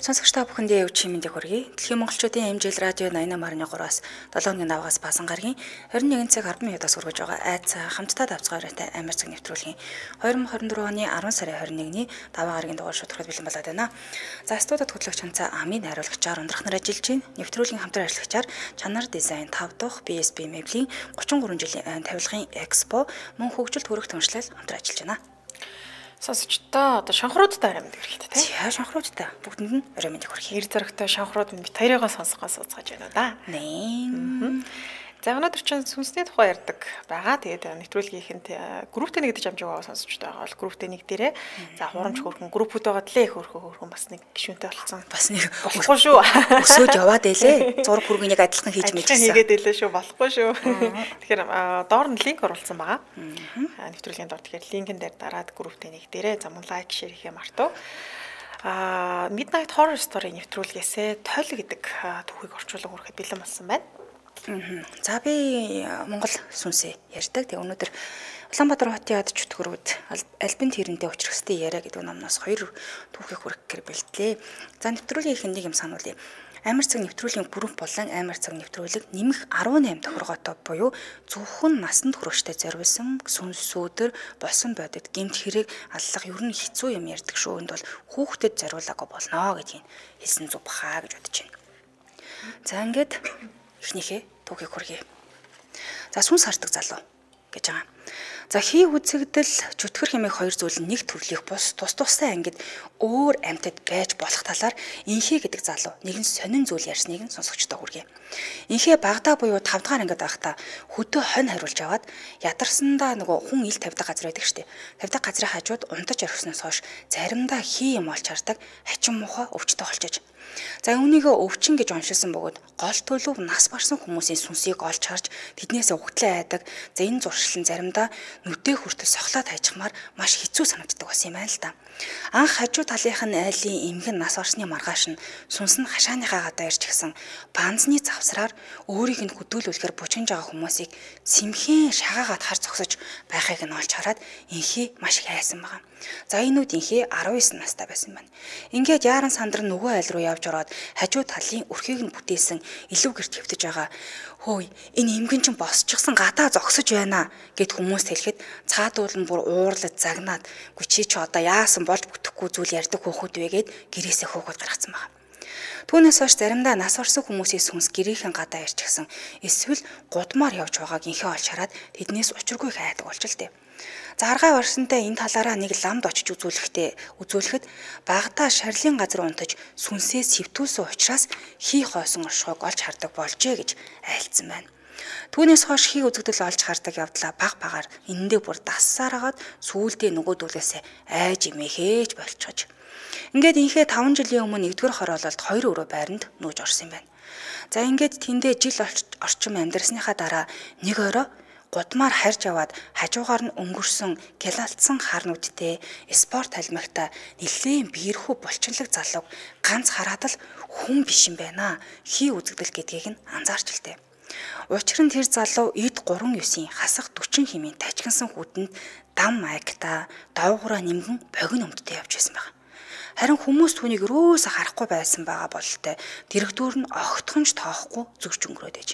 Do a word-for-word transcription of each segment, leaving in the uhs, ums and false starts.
Сонсогч та бүхэндээ өчигдөр мэндийг хүргэе. Дэлхийн монголчуудын эмжил радио восемь tám trois-аас долоо өдрийн давгаас баасан гарагийн двадцать one цаг ten минутаас хүргэж байгаа айцаа хамтдаа давцгаартай амар цаг нэвтрүүлгийн twenty twenty-four оны ten сарын twenty-one-ны даваа гарагийн дугаар шударгад бэлэн болоод байна. За студид хөтлөгч Ханцаа Амийн хариулагчаар ундрах нар ажиллаж байна. Нэвтрүүлгийн хамтран ажиллагчаар Чанар дизайн five дахь би эс би Мэблийн thirty-three жилийн тавилгын экспо мөн хөгжилт хөрөх түншлэл хамтран ажиллаж байна. Сонсогчдоо одоо шанхруудтай орой мэд хэрэгтэй тийм. За шанхруудтай бүгдэнд нь орой мэд хүрэх. Эр зөрөгтэй шанхрууд мэд хоёрыгоо сонсгоос ууцгааж байна да. Нэ. За өнөөдөр чинь сүнсний тухай ярьдаг байгаа. Тэгээд нэвтрүүлгийнхэнд групптэй нэгдэж амжиг байгаа сонсогчдоо байгаа бол групптэй нэг дээрээ за хурамч хөрхөн группүүд байгаа тлээ хөрхөн хөрхөн бас нэг гишүүнтэй болсон. Бас нэг болохгүй шүү. Өсөөж яваад байлээ. Зураг хүргэнийг адилхан хийж мэдчихсэн. Хийгээд байлээ шүү. Болохгүй шүү. Тэгэхээр доор нь линк оруулсан байгаа. Нэвтрүүлгийн доор тэгэхээр линкэн дээр дараад групптэй нэг дээрээ за мөн лайк шеэр хийхээ мартав. А Midnight Horror Story нэвтрүүлгээсээ тойл гэдэг түүхийг орчуулга хүрэхэд бэлэн болсон байна. За би Монгол сүнсээ ярьдаг. Тэгээ өнөөдөр Улаанбаатар хотын ад чөтгөрүүд альбин тэрэндээ учрахстай яриа гэдэг номноос хоёр түүхийг хүргэх бэлтлээ. За нэвтрүүлгийн ихэнд нэг юм сануулъя. Амар цаг нэвтрүүлгийн бүрэн болон амар цаг нэвтрүүлэг нэмэх eighty-eight тохиргоотой буюу зөвхөн насанд хүрэгчтэй зориулсан сүнс өдөр болсон бодит гэмт хэрэг аллах ер нь хэцүү юм ярьдаг шүүнд бол хүүхдэд зориулаагүй болно гэдгийг хэлсэн зүг бахаа гэж бодож байна. За ингээд эхнийхээ түүхийг хүргэе. За сүнс хардаг залуу гэж байгаа. За хий үзэгдэл чөтгөр хэмээх хоёр зүйл нь нэг төрлийн бус тус тустай ангид өөр амьтад байж болох талаар инхээ гэдэг залуу нэгэн сонин зүйл ярьсныг нь сонсогчдоо хүргэе. Инхээ багадаа буюу five дахь ангид байхдаа хөдөө хонь хариулж аваад ядарсандаа нөгөө хүн ил тавьдаг газар байдаг штеп. тавьдаг газрын хажууд унтаж орхисноос хойш заримдаа хий юм олж хардаг хачин муухай өвчтөй болчихж. За үүнийгээ өвчин гэж оншилсан бөгөөд гол төлөв нас барсан хүмүүсийн сүнсийг олж харж тэднээс угтлаа айдаг. За энэ зуршил нь заримдаа нүдээ хүртэл сохлоод хайчихмаар маш хэцүү санагддаг бас юм байна л да. Анх хажуу талынх нь айлын эмгэн нас барсны маргааш нь сүнс нь хашааныхаа гадаа ирж гисэн банзны завсраар өөрийг нь хөдөлгөлөхээр бужигнж байгаа хүмүүсийг сэмхэн шагаагаад хар зогсож байхыг нь олж хараад инхий маш их айсан байгаа. За энэ үед инхий nineteen настай байсан байна. Ингээд яаран сандар нөгөө айл руу явж ороод хажуу талын өрхийг нь бүтээсэн илүү гэрт хөвтөж байгаа. Хөөе, энэ эмгэн чинь босчихсон гадаа зогсож байна гэд хүмүүс хэлэхэд цаадуул нь бүр уурлаж загнаад "Гү чи ч одоо яасан болж бүтэхгүй зүйл ярьдаг хөөхөд вэ" гэд гэрээсээ хөөхөд гаргацсан байна. Түүнээс хойш заримдаа нас орсон хүмүүсийн сүнс гэрийнхэн гадаа ирж гисэн эсвэл гудмаар явж байгааг инхээ олж хараад тэднээс учиргүй их айдаг болж л дээ. За аргай барсантай энэ талаараа нэг ламд очиж үзүүлэхдээ үзүүлэхэд багтаа шарлын газар унтаж сүнсээ сэвтүүлсэн учраас хий хоосон оршихойг олж хардаг болжээ гэж айлцсан байна. Түүнээс хойш хий үзэгдэл олж хардаг явдлаа баг багаар энэндээ бүр дассаараад сүүлдээ нөгөөдүүлээсээ айж имээхээж болчихож. Ингээд инхээ five жилийн өмнө нэгдүгээр хороололд хоёр өрөө байранд нүүж орсон юм байна. За ингээд тэндээ жил орчим амьдрсныхаа дараа нэг орой гудмаар харж аваад хажуугаар нь өнгөрсөн гялалтсан хар нүдтэй спорт халмагта нэлээд биерхүү булчинлаг залууг ганц хараад л хүн биш юм байна. Хий үзэгдэл гэдгийг нь анзаарч илтээ. Учир нь тэр залуу эд thirty-nine хасах forty хэмээн тажигнсан хүдэнд дам маягта доогоороо нимгэн богино өмдтэй явж байсан байна. Харин хүмүүс түүнийг өрөөсө харахгүй байсан байгаа бололтой дэрэгдүүр нь огтхонч тоохгүй зүгч өнгөрөөд ээж.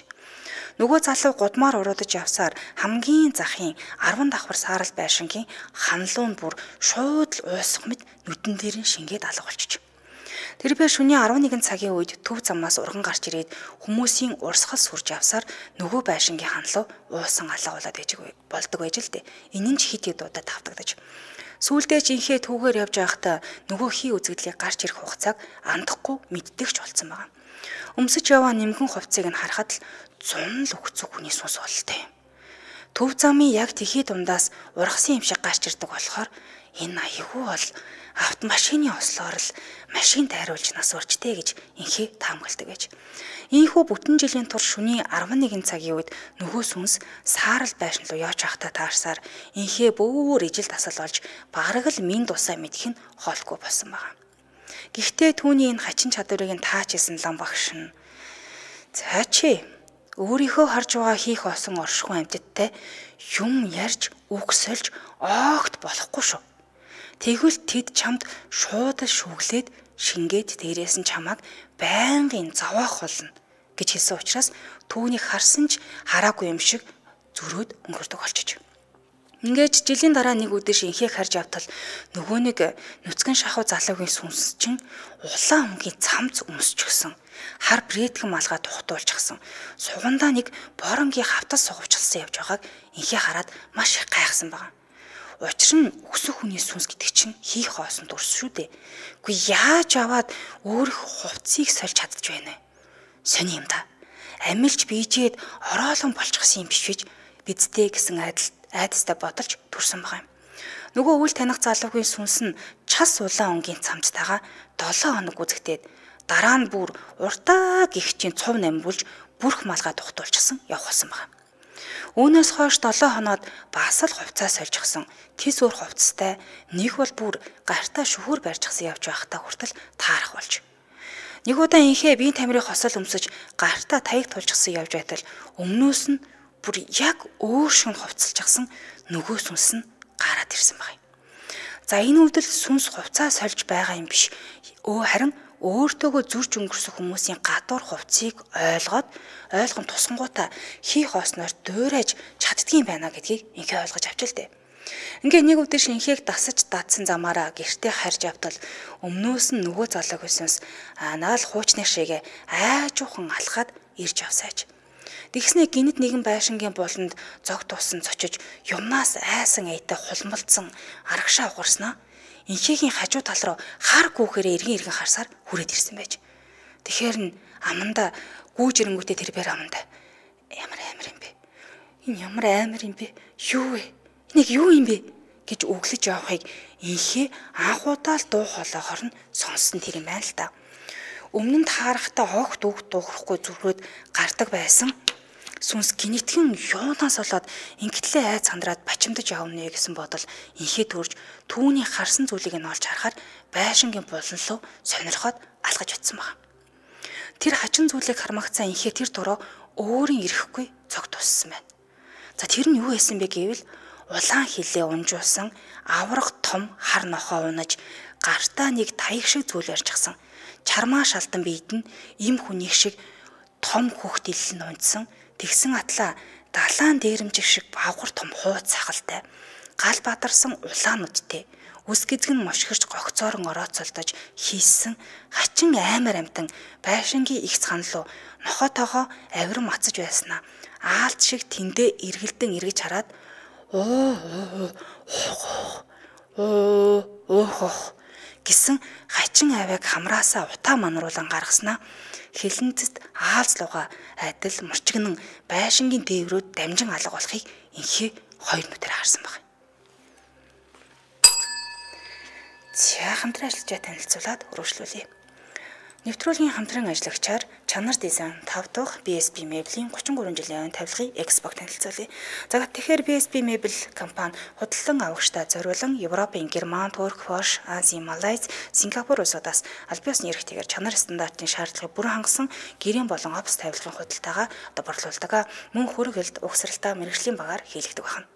Нөгөө залуу гудмаар уруудаж явсаар хамгийн захын ten давхар саарал байшингийн ханлуун бүр шууд л уусах мэт нүдэн дээр нь шингээд алга болчих. Тэр бээр шөнийн eleven цагийн үед төв замаас урган гарч ирээд хүмүүсийн урсгал сүрж явсаар нөгөө байшингийн ханлуу уусан алга болоод ээж болдог байж л дээ. Энэ нь ч хит хит удаа тавтагдаж. Сүүлдээ ч инхээ түүгээр явж байхдаа нөгөө хий үзэгдлийг гарч ирэх хугацааг андахгүй мэддэгч болсон байна. Өмсөж яваа нимгэн хувцсыг нь харахад л зун л өгцөг хүний сүнс болтой. Төв замын яг тэхий дундаас ургасан юм шиг гарч ирдэг болохоор энэ аягүй бол автомашины ослоор л машин тайруулж нас урчтэй гэж инхээ таамагладаг гэж. Ийхүү бүтэн жилийн турш шөнийн eleven цагийн үед нөгөө сүнс саарал байшин руу явж байхдаа таарсаар инхээ бүр ижил тасал болж бараг л минь дусаа мэдэх нь хоолгүй болсон байна. Гэхдээ түүний энэ хачин чадварыг нь таачилсан лам багш нь "За чи өөрийнхөө харж байгаа хийх осон оршихуй амьтдтай юм ярьж үгсэлж огт болохгүй шүү. Тэгвэл тэд чамд шууд шүглээд шингээд дээрээс нь чамайг байнгын зовоох болно гэж хэлсэн учраас түүнийг харсан ч хараагүй юм шиг зөрөөд өнгөрдөг болчих. Ингээд жилийн дараа нэг өдөр шинхийг харж явтал нөгөө нэг нүцгэн шахуу залуугийн сүнс чинь улаан өнгийн цамц өмсчихсэн. Хар брэдгэн малгай тухтуулчихсан. Сугандаа нэг боронгийн хавтас сугавчилсан явж байгааг инхээ хараад маш их гайхсан байгаа. Учир нь өксөх хүний сүнс гэдэг чинь хийх хоосон дурс шүү дээ. Үгүй яаж аваад өөрөх хувцсыг сольж чадчих вэ нэ? Сони юм да. Амилж бийжээд ороолон болчихсон юм биш үү? Бидтэй гэсэн айдал айдастай бодолж төрсөн байгаа юм. Нөгөө үл таних залуугийн сүнс нь час улаан өнгийн цамцтайгаа долоо хоног үзэгдээд дараа нь бүр уртаа гихчийн цув намбулж бүрх малгай тухтуулчихсан явах болсон байгаа. Үүнээс хойш долоо хоноод бас л хувцас сольжчихсан. Тис өөр хувцастай нэг бол бүр гартаа шөхөр барьчихсан явж байхдаа хүртэл таарах болж. Нэг удаа инхээ биеийн тамирын хосол өмсөж гартаа таяг тулчихсан явж байтал өмнөөс нь бүр яг өөр шин хувцалчихсан нөгөө сүнс нь гараад ирсэн байна. За энэ үйлдэл сүнс хувцаа сольж байгаа юм биш. Өө харин өөртөөгөө зүрж өнгөрсөн хүмүүсийн гадуур хувцсыг ойлгоод ойлгон тусгангуудаа хийх хоосноор дуурайж чаддгийм байна гэдгийг инхээ ойлгож авч л дээ. Ингээ нэг өдөр шинхийг дасаж дадсан замаараа гэртээ харж явтал өмнөөс нь нөгөө залуугийн сүнс анаал хуучны шигээ айжуухан алхаад ирж явсаач. Тэгснэ гинт нэгэн байшингийн буланд зог тусан цочиж юмнаас айсан айтай хулмалдсан арагшаа угарснаа инхээгийн хажуу тал руу хар гүүхээрээ эргэн эргэн харсаар хүрээд ирсэн байж. Тэгэхээр нь аманда гүүж ирэнгүүтээ тэр бэр аманда ямар амар юм бэ? Энэ ямар амар юм бэ? Юу вэ? Энийг юу юм бэ гэж өглөж явахыг инхээ анхудаа л дуу хоолойгоор нь сонссон тэр юм байна л да. Өмнө нь таарахтаа огт үг дуурахгүй зүрхөөд гардаг байсан сүнс гинэтхэн юунаас болоод ингээдлээ айц сандраад бачимдаж явна гэсэн бодол инхээ төрж түүний харсан зүйлийг нь олж харахаар байшингийн булан руу сонирхоод алгаж утсан байна. Тэр хачин зүйлийг хармагцаа инхээ тэр дуруу өөрийн ирэхгүй цог туссан байна. За тэр нь юу байсан бэ гэвэл улаан хилээ унжуулсан аврах том хар нохоо унаж гартаа нэг таяг шиг зүйл ярьчихсан. Чармаа шалдан биед нь им хүнийг шиг том хөхт ил нь унтсан. Тэгсэн атлаа далаан дээрэмжиг шиг бавгар том хууц сахалтай гал бадарсан улаан нүдтэй үс гизгэн мошгирч гогцоорон орооцолдож хийсэн хачин аймар амтан байшингийн их цанлуу нохотоогоо авир мацаж байснаа аалт шиг тэндээ эргэлдэн эргэж хараад оо оо оо гэсэн хачин авийг хамраасаа утаа манруулан гаргаснаа хилэнцэд аалзлууга айдал мөрчгнэн байшингийн дээврүүд дамжин алга болохыг инхээ хоёр нүдээр харсан баг. За хамтран ажиллаж танилцуулаад өргөжлүүлье. Нэвтрүүлгийн хамтран ажиллагчаар чанар дизайн тав дахь би эс би Mebel-ийн гучин гурван жилийн айн тавилгын экспог танилцуулъя. За тэгэхээр би эс би Mebel компани худалдан авагчтай зориулан Европын Герман, Турк, Польш, Ази, Малайз, Сингапур улсуудаас аль биесны эрхтэйгээр чанар стандартын шаардлагыг бүрэн хангасан гэрийн болон офс тавилгын худалдаага одоо борлуулдаг. Мөн хөргөлд угсралтаа мэрэгжлийн багаар хийлэгдэг байна.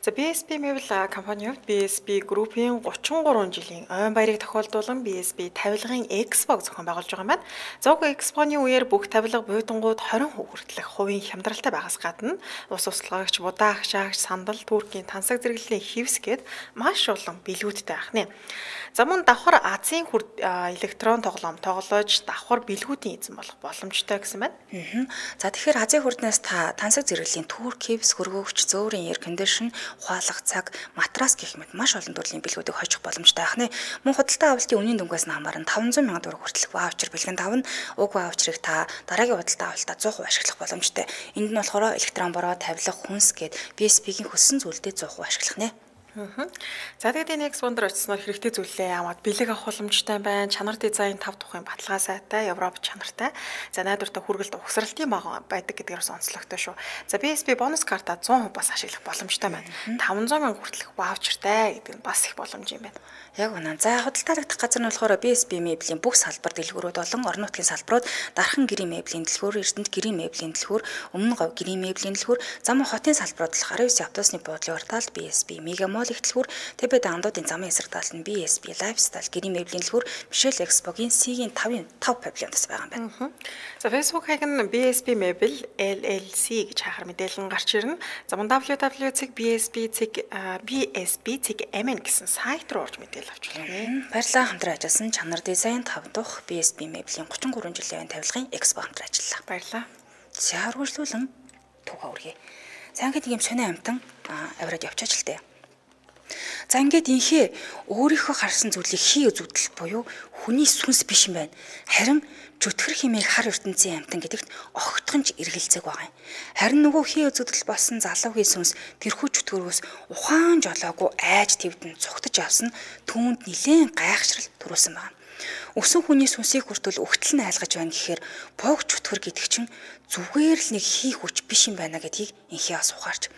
За би эс би Mebel компани хувьд би эс би группийн гучин гурван жилийн ойн баярыг тохиолдуулан би эс би тавилгын экспог зохион байгуулж байгаа юм байна. Зог экспоны үеэр бүх тавилга буйдангууд хорин хүртэлх хувийн хямдралтай байгаас гадна ус услаагч, будаа агшаагч, сандал, Туркийн тансаг зэрэглэлийн хивс гээд маш олон бэлгүүдтэй байна. За мөн давхар Азийн электрон тоглоом тоглож давхар бэлгүүдийн эзэн болох боломжтой гэсэн байна. За тэгэхээр Азийн хурднаас та тансаг зэрэглэлийн Турк, хивс, хөргөөгч, зөөрийн air condition, ухаалгах цаг, матрас гэх мэт маш олон төрлийн бэлгүүдийг хожих боломжтой байна. Мөн худалдаа авалтын үнийн дүнгээс нь хамааран таван зуун мянган төгрөг хүртэлх ваучер бэлгэн тавна. Уг ваучерыг та дараагийн худалдаа авалтаа сто процент ашиглах боломжтой. Энд нь болохоор электрон бороо, тавилга, хүнс гээд би эс би-ийн хүссэн зүйлдээ сто процент ашиглах нэ. За тэгээд энэ экспондер очисноор хэрэгтэй зүйлээ аваад бэлэг авах боломжтой байна. Чанар дизайн тав тухайн баталгаа сайтай, Европ чанартай. За найдвартай хүргэлт угсралтын баг байдаг гэдгээр онцлогтой шүү. За би эс би бонус карта сто процент бас ашиглах боломжтой байна. таван зуун мянга хүртэлх ваучертай гэдэг нь бас их боломж юм байна. Яг үнэн. За худалдаалагдах газар нь болохоор би эс би Mebel-ийн бүх салбар дэлгүүрүүд болон орон нутгийн салбарууд дархан гэрийн Mebel-ийн дэлгүүр, Эрдэнэт гэрийн Mebel-ийн дэлгүүр, Өмнө говь гэрийн Mebel-ийн дэлгүүр, зам хотын салбарууд болохоор девять автобусны буудлын уртаал би эс би Мегамол, сургуулийн эхлэлгүүр Тэбэд андуудын замын эсрэг талд нь би эс би Lifestyle гэрийн меблийн дэлгүүр Michelle Expo-гийн C-ийн five павильоноос байгаа юм байна. За Facebook хаяг нь би эс би Mebel эл эл си гэж хахаар мэдээлэл гарч ирнэ. За мөн дабл ю дабл ю дот би эс би дот би эс би дот эм эн гэсэн сайт руу орж мэдээлэл авч болно. Баярлалаа, хамтран ажилласан чанар дизайн тав дахь би эс би Mebel-ийн thirty three жилийн тавилгын Expo хамтран ажиллалаа. Баярлалаа. За үргэлжлүүлэн түүхээ үргэе. За ингээд ийм сонио амтан авираад явчаач л дээ. За ингээд инхээ өөрийнхөө харсан зүйлийг хий үзүүлэл буюу хүний сүнс биш юм байна. Харин чөтгөр хэмээх хар ертөнцийн амтан гэдэгт огтхонч эргэлзээг байгаа юм. Харин нөгөө хий үзүүлэл болсон залуугийн сүнс тэрхүү чөтгөрөөс ухаан жолоогүй айж твдэн цугтаж авсан түүнд нилээн гайхшрал төрүүлсэн байна. Өсөн хүний сүнсийг хүртэл өгтөл нь айлгаж байна гэхээр бог чөтгөр гэдэг чинь зүгээр л нэг хий хүч биш юм байна гэдгийг инхээ бас ухаарч.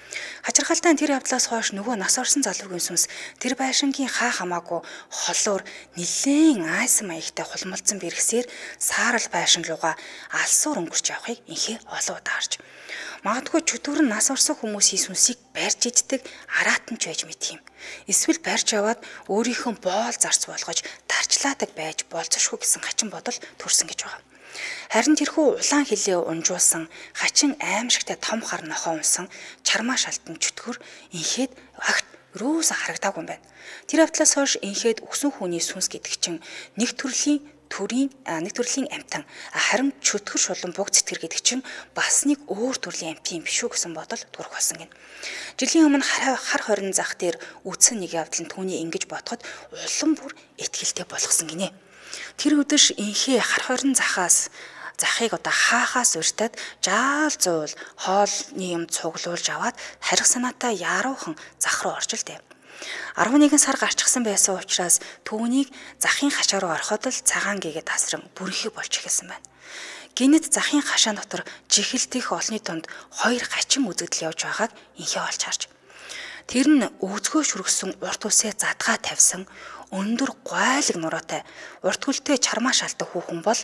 Хачирхалтай тэр явдлаас хойш нөгөө нас орсон залуугийн сүнс тэр байшингийн хаа хамаагүй холоор нилээн айсан маягтай хулмалцсан бэрхсээр саарал байшин руугаа алсуур өнгөрч явахыг инхээ олон удаа харж. Магадгүй чөтгөр нь нас орсон хүмүүсийн сүнсийг барьж иддэг араатанч байж мэт юм. Эсвэл барьж аваад өөрийнхөө боол зарц болгож тарчлаадаг байж болцошгүй гэсэн хачин бодол төрсөн гэж байгаа. Харин тэрхүү улаан хилээ унжуулсан хачин аимшигтай том хар нохоо унсан чармаа шалтан чөтгөр инхээд агт рүүс харагдаагүй юм байна. Тэр явдлаас хойш инхээд өсөн хүний сүнс гэдэг чинь нэг төрлийн төрийн нэг төрлийн амтан харин чөтгөр шулан буг цэтгэр гэдэг чинь бас нэг өөр төрлийн амт юм биш үү гэсэн бодол төрөх болсон гин. Жилийн өмнө хар хорин зах дээр үдсэн нэг явдал нь түүний ингэж бодоход улам бүр ихтгэлтэй болгосон гинэ. Тэр өдөр инхээ хар хорин захаас захыг одоо хаахаас урьтаад жаал зуул хоолны юм цуглуулж аваад харих санаатай яруухан зах руу орж л дээ. eleven сар гарчихсан байсан учраас түүнийг захын хашаа руу ороход л цагаан гээгээ тасран бүрхий болж эхэлсэн байна. Гинэт захын хашаа дотор жихэлтэх олны дунд хоёр хачин үзэгдэл явж байгааг инхээ олж харж. Тэр нь өвзгөө шүргсэн урт усээ задгаа тавьсан өндөр гойлог нуруутай урт хөлтэй чармаа шалтак хүүхэн бол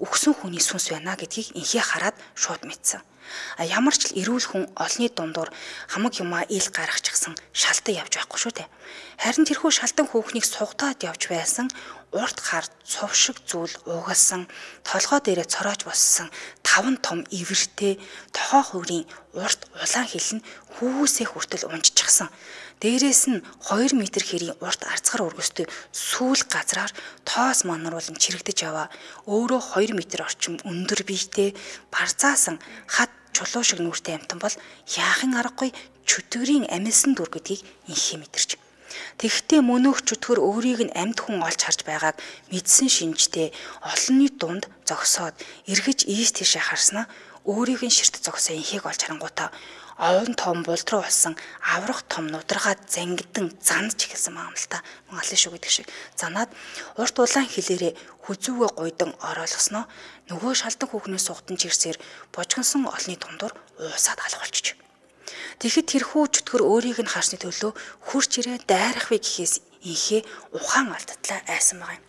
өгсөн хүний сүнс байна гэдгийг инхээ хараад шууд мэдсэн. А ямар ч л эрүүл хүн олны дундуур хамаг юмаа ил гаргачихсан шалтан явж байхгүй шүү дээ. Харин тэрхүү шалтан хүүхнийг сугатаад явж байсан урт хар цов шиг зүйл уугалсан толгой дээрээ цороож боссон таван том ивэртэй тохоо хөврийн урт улаан хил нь хүүсээ хүртэл унжчихсан. Дээрээс нь two метр хэрийн урт арцгар өргөстэй сүүл газраар тоос манруулан чирэгдэж яваа өөрөө two метр орчим өндөр биетэй барзаасан хат чулуу шиг нүртэй амтан бол яахын аргагүй чөтгөрийн амилсан дүр гэдгийг инхээ мэдэрч. Тэгэхдээ мөнөөх чөтгөр өөрийг нь амьд хүн олж харж байгааг мэдсэн шинжтэй олонний дунд зогсоод эргэж ийш тийшээ харснаа өөрийг нь ширт зогсоо инхийг олж харангуйтаа овон том булд руу болсон аврах том нударгаад зангидан занд ч ихсэн юм л та. Монголын шүү гэдэг шиг занаад урт улаан хилээрээ хүзүүгээ гуйдан ороолгосноо нөгөө шалдан хүүхнээс сугтан чирсээр божгонсон олны дундуур уусаад алгуулчих. Тэгэхэд тэрхүү чөтгөр өөрийг нь харсны төлөө хурч ирээ дайрах вэ гэхээс инхээ ухаан алдатлаа айсан байгаа юм.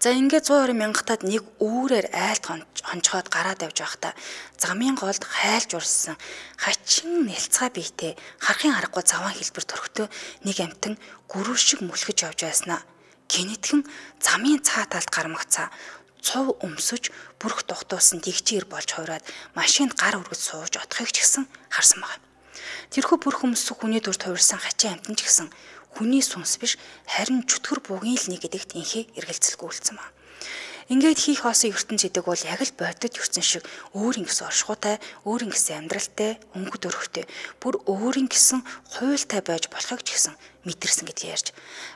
За ингээд one hundred мянгатад нэг үүрээр айлт хончхоод гараад явж байхдаа замын голд хайлж урссан хачин нэлцгай биетэй харахын аргагүй заван хэлбэр төрхтөө нэг амтан гүрүү шиг мүлхэж явж байснаа гинэтхэн замын цаа талд гармагцаа цов өмсөж бүрх дугтуусан дэгчээр болж хувраад машинд гар өргөж сууж отохыг ч гэсэн харсан байна. Тэрхүү бүрх өмсөх хүний дүр тувирсан хачин амтан ч гэсэн хүний сүнс биш харин чөтгөр бугийн л нэг гэдэгт инхээ эргэлзэлгүй үлдсэн байна. Ингээд хийх хоосон ертөнц гэдэг бол яг л бодит ертөнц шиг өөрийн гэсэн оршихуйтай, өөрийн гэсэн амьдралтай, өнгөт өрхтэй, бүр өөрийн гэсэн хуйлтай байж болохыг ч гэсэн мэдэрсэн гэдгийг ярьж.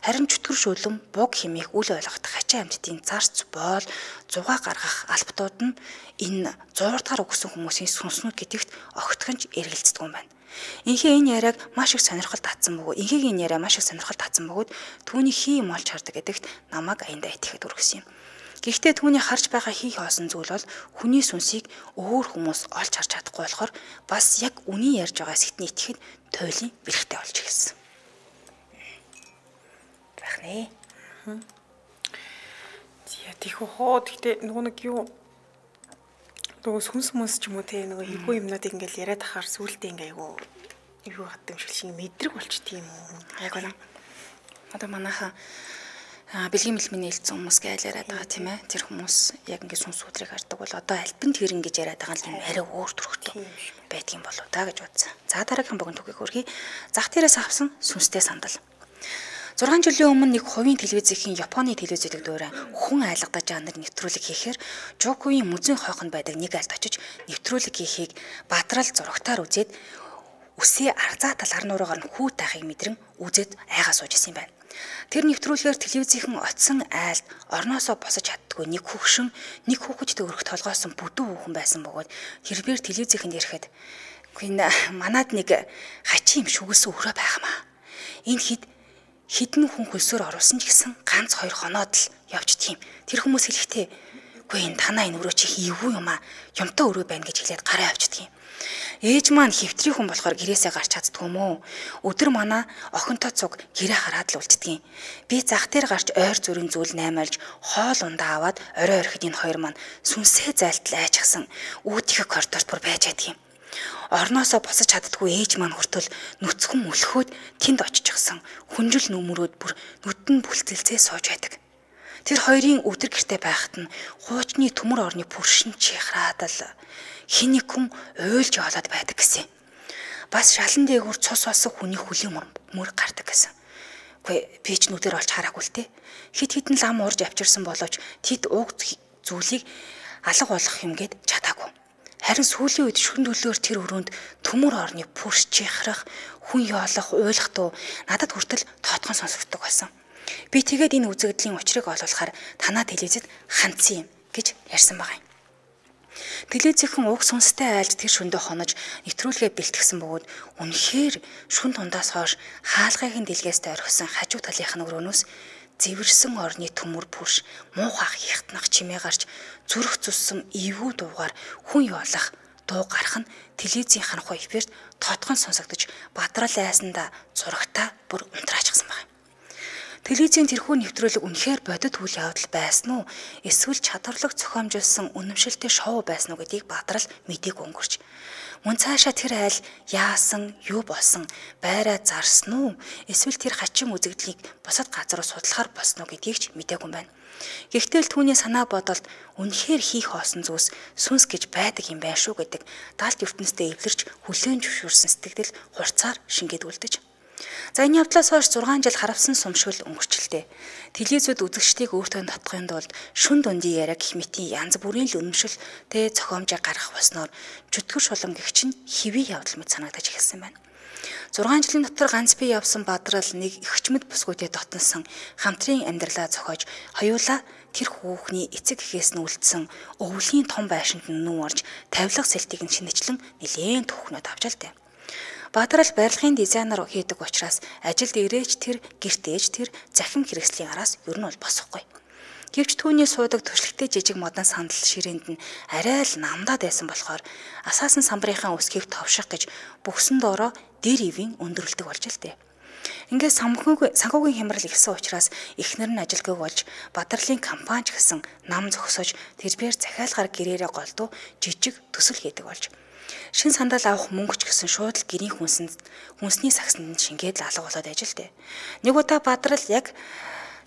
Харин чөтгөр шүлэн буг хэмээх үл ойлгох хачин амьтдын зарц боол зугаа гаргах албатууд нь энэ one hundred дахь өгсөн хүмүүсийн сүнснүүд гэдэгт огтхонч эргэлздэг юм байна. Инхээ энэ яриаг маш их сонирхол татсан бөгөөд инхээгийн энэ яриа маш их сонирхол татсан бөгөөд түүний хий юм олж хардаг гэдэгт намайг аяндаа итгэхэд үргэсэн юм. Гэхдээ түүний харж байгаа хий хоосон зүйл бол хүний сүнсийг өөр хүмүүс олж харж чадахгүй болохоор бас яг үний ярьж байгаа сэтний итгэхэд туйлын бэрхтээ болж эхэлсэн. Байх нэ. Яа тийхүү хоо гэхдээ нөгөө нэг юу нөгөө сүнс мүнс ч юм уу те нөгөө эвгүй юмнуудыг ингээл яриад ахаар сүултээ ингээ айгу юу гадаг юм шиг шиг мэдрэг болчт юм уу? Яг үнэ. Одоо манайхаа бэлгийн мэлмийн нээлтсэн хүмүүс гэж яриад байгаа тийм ээ. Тэр хүмүүс яг ингэ сүнс өдрийг хардаг бол одоо альбин тэрэн гэж яриад байгаа юм арай өөр төрхтэй байдгийн болоо та гэж бодсон. За дараагийн богино түүхийг хөргий. Зах дээрээс авсан сүнстэй сандал. зургаан жилийн өмнө нэг хувийн телевизийн Японы телевизэд дөөрэ хүн айлгадаж жанр нэвтрүүлэг хийхээр Жокугийн музейн хойхонд байдаг нэг альд очиж нэвтрүүлэг хийхийг бадрал зурагтаар үзээд үсээ арзаа тал арнуураагаар нь хүү тахыг мэдрэн үзээд айгаа сууж исэн юм байна. Тэр нэвтрүүлгээр телевизийн оцсон айлд орноосоо босож чаддгүй нэг хөвгшин нэг хүүхэдтэй өргөх толгойсон бүдүү хүүхэн байсан бөгөөд тэрээр телевизийн ирэхэд гүн манад нэг хачин юм шүгэлсэн өрөө байхмаа. Энэ хід хідэн хүн хөлсөөр оруулсан ч гэсэн ганц хоёр хоноод л явждгийм. Тэр хүмүүс хэлэхдээ үгүй энэ танаа энэ өрөө чи эвгүй юм аа. Юмтай өрөө байна гэж хэлээд гараа авчдгийм. Ээж маань хэвтрийн хүн болохоор гэрээсээ гарч чаддгүй мó. Өдөр манаа охинтой цуг гэрээ хараад л үлддгийн. Би зах дээр гарч ойр зүрийн зүйл наймаалж хоол ундаа аваад орой орхид энэ хоёр маань сүнсээ зайлтал айчгсан үүдийнхээ коридорт бүр байж байдгийн. Орноосоо босож чаддгүй ээж маань хүртэл нүцгэн өлхөөд тэнд очиж гисэн хүнжил нүмерүүд бүр нүдэн бүлцэлцээ сууж байдаг. Тэр хоёрын өдөр гэртээ байхад нь хуучны төмөр орны пүршин чихраад л хин нэг хүн уйлж яваад байдаг гэсэн. Бас шалан дээгүүр цус басан хүний хөлийн мөр гардаг гэсэн. Үгүй би ч нүдээр олж хараагүй л те. Хит хитэн лам уурж авчирсан боловч тэд уг зүйлийг алга болгох юм гээд чадаагүй. Харин сүүлийн үед шүн төлөөр тэр өрөөнд төмөр орны пүрш чихрах, хүн яолох, уйлах дуу надад хүртэл тоотхон сонсогддог байсан. Би тэгээд энэ үзэгдлийн учрыг олуулахаар танаа телевизэд хандсан юм гэж ярьсан байгаа юм. Телевизийн уг сүнстэй айлд тэр шөндөө хонож нэвтрүүлгээ бэлтгэсэн бөгөөд үнэхээр шүн тундаас хойш хаалгайхын дэлгээс орхисон хажуу талынх нь өрөөнөөс зэвэрсэн орны төмөр пүрш муухай хихтнах чимээ гарч зүрх цуссан эвгүй дуугаар хүн яолах дуу гарах нь телевизийн ханхуй эфирт тоотхон сонсогдож бадрал айсанда зурагтаа бүр унтраачсан байна. Телевизийн тэрхүү нэвтрүүлэг үнэхээр бодит үйл явдал байсан уу? Эсвэл чадварлаг зохиомжуулсан үнэмшилтэй шоу байсан уу гэдгийг бадрал мэдээг өнгөрч. Мөн цаашаа тэр айл яасан, юу болсон, байраа зарсан уу? Эсвэл тэр хачин үзэгдлийг бусад газар руу судлахаар болсон уу гэдгийг ч мэдээгүй юм байна. Гэхдээ л түүний санаа бодолд үнэхээр хийх хоосон зүйлс сүнс гэж байдаг юм байна шүү гэдэг даалт ертөнцтэй эвлэрч хүлээн зөвшөөрсөн сэтгэл хурцаар шингээд үлдэж. За энэ явдлаас хойш зургаан жил харавсан сумшил өнгөрчлээ. Телевизүүд үзэгчдийг өөртөө татахын тулд шүн дундын яриа гэх мэтийн янз бүрийн л үнэмшилтэй зохиомжоо гаргах болсноор чөтгөр шулам гэгч нь хэвийн явдал мэт санагдаж эхэлсэн байна. зургаан жилийн дотор ганц бие явсан бадрал нэг ихчмэд бүсгүйтэй дотносон хамтрын амьдралаа зохиож хоёулаа тэр хүүхний эцэг эхээс нь үлдсэн өвлийн том байшинд нүүн орж тавилга сэлтийг нь шинэчлэн нэлээд түүхнүүд авч аль дээ. Бадрал барилгын дизайнер хийдэг учраас ажилд ирээч тэр гэртээж тэр захим хэрэгслийн араас ер нь бол босохгүй. Гэвч түүний суудаг төршлөгтэй жижиг модон сандал ширээнд нь арай л намдаад байсан болохоор асаасан самбарынхаа өсгийг товших гэж бүхсэн доороо дээр ивийн өндөрлөдөг болж л дээ. Ингээд санхүүгийн санхүүгийн хямрал ихсэн учраас эхнэр нь ажилгүй болж Бадралын компани ч гэсэн нам зогсож тэрээр захиалгаар гэрээрээ голдуу жижиг төсөл хийдэг болж. Шин сандал авах мөнгөч гэсэн шууд л гэрийн хүнсэнд хүнсний сагсанд шингээд л алга болоод ажил дээ. Нэг удаа Бадрал яг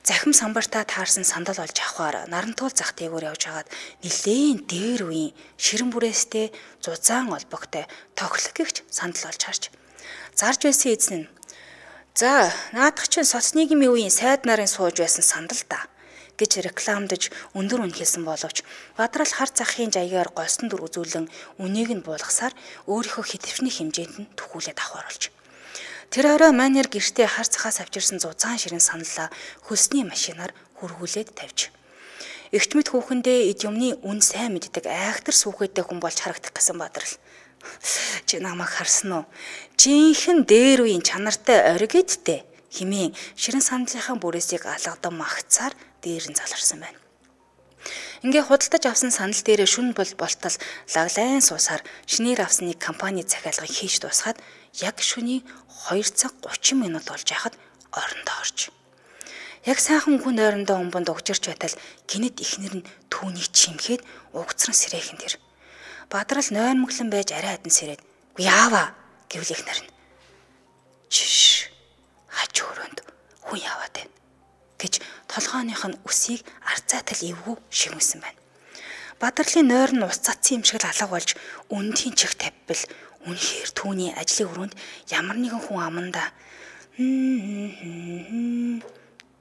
захим самбартаа таарсан сандал олж авахаар нарантуул зах дээгүүр явж хагаад нилээн дээр үеийн ширэн бүрээстэй зузаан олбогтой тоглохгүйч сандал олж харж зарж байсан эзэн нь за наадах чинь соц нийгмийн үеийн сайд нарын сууж байсан сандал та гэж рекламдаж өндөр үн хэлсэн боловч Бадрал хар захын жаягаар голсон дүр үзүүлэн үнийг нь буулгасаар өөрийнхөө хэтвчний хэмжээнд нь төхүүлээд авахар болж. Тэр орой манер гэртээ хар цахаас авчирсан зузаан ширэн саналаа хөлсний машинаар хөргүүлээд тавьж. Эгчмэд хүүхэндээ эд юмны үн сайн мэддэг айхтар сүхэдтэй хүн болж харагдах гэсэн Бадрал. Чи намайг харсан уу? Жинхэнэ дээр үеийн чанартай оригидтэй химийн ширэн сандлынхаа бүрээсийг алгадан магцаар дээр нь заларсан байна. Ингээ худалдаж авсан санал дээрээ шүн бол болтол лаглайн суусаар шинээр авсан нэг компани захиалгыг хийж дуусгаад яг шөнийн хоёр цаг гучин минут болж яхад орондоо орж. Яг сайхан хүн ойрондоо өмбөнд угжирч байтал гинэт ихнэр нь түүнийг чимгээд угцран сэрээхэн тэр. Бадрал нойрмоглон байж арай хадан сэрээд "Үгүй яава" гэвэл ихнэр нь Чиш. Хажуу өрөөнд хүн яваад байна гэж толгойных нь үсийг арцаатал эвгүй шигмсэн байна. Бадарлын нойр нь ус цацсан юм шиг л алга болж өндхийн чих тавьбал үнэхээр түүний ажлын өрөөнд ямар нэгэн хүн аманда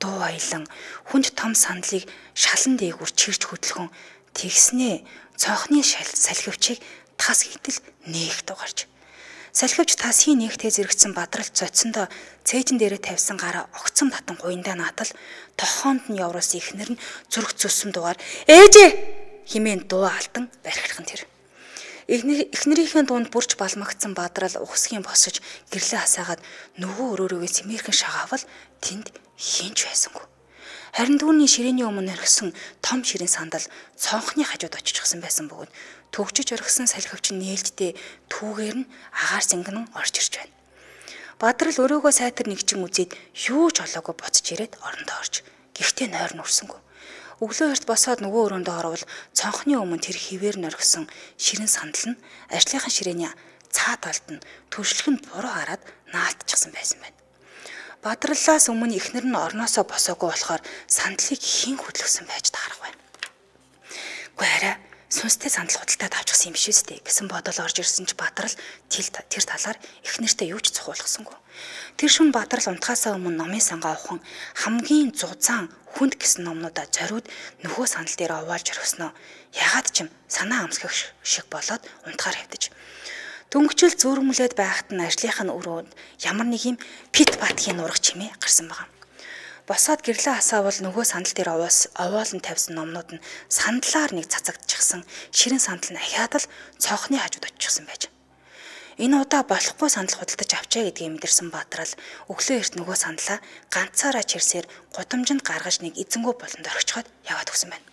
дуу аялан хүнд том сандлыг шалан дээгүр чирч хөдлөхөн тэгснээ цонхны салхивчийг тас хийтэл нээх дугарч. Салхивч тасын нээгтээ зэрэгцсэн бадралт цоцсондоо цээжин дээрээ тавьсан гараа огцом татан гуйндаа наатал тохоонд нь явруулсан ихнэр нь зүрх зүссэн дугаар ээжээ химэн дуу алдан бархирхан тэр. Эхнэрийнхээ дунд бүрж балмагцсан бадрал ухсгийн босож гэрлээ хасаагаад нөгөө өрөөрөөгөө цэмэрхэн шагаавал тэнд хинч байсангүй. Харин түүний ширээний өмнө орхисон том ширэн сандал цонхны хажууд очихсан байсан бөгөөд төгжиж орхисон салхивч нээлттэй түүгээр нь агаар сингэн орж ирж байна. Бадрал өрөөгөө сайтар нэгчин үзээд юу ч олоогүй буцаж ирээд орондоо орж. Гэхдээ нойр нь өрсөнгүй. Өглөө эрт босоод нөгөө өрөөндөө орвол цонхны өмнө тэр хിവэр нь орхисон ширэн сандал нь ажлынхан ширээний цаа талд нь төршлөх нь буруу хараад наалтчихсан байсан байна. Бадраллаас өмнө эхнэр нь орноосоо босоогүй болохоор сандлыг хэн хөдлөсөн байж таарах байна. Гэхдээ арай сүнстэй сандал худалдаад авчихсан юм биш үстэй гэсэн бодол орж ирсэн ч Бадрал тэр талаар эхнэртээ юу ч цохиулгасангүй. Тэр шөнө Бадрал унтахаасаа өмнө номын сангаа ухан хамгийн зузаан хүнд гэсэн номнуудаа зориуд нөхөө сандал дээр овоолж орхисноо. Ягаад ч юм санаа амсгах шиг болоод унтахаар хэвдэж. Дөнгөчл зүүрмлээд байхад нь ажлынх нь өрөөнд ямар нэг юм пит батгийн нурах чимээ гарсан байгаа. Босоод гэрлээ хасаавал нөгөө сандал дээр овоолн тавьсан номнууд нь сандлаар нэг цацагдчихсан ширэн сандал нь ахиад л цонхны хажууд очихсан байж. Энэ удаа болохгүй сандал худалдаж авчаа гэдгийг мэдэрсэн Бадрал өглөө эрт нөгөө сандлаа ганцаараа чирсээр гудамжинд гаргаж нэг эзэнгүү болонд орхичход яваад өгсөн байна.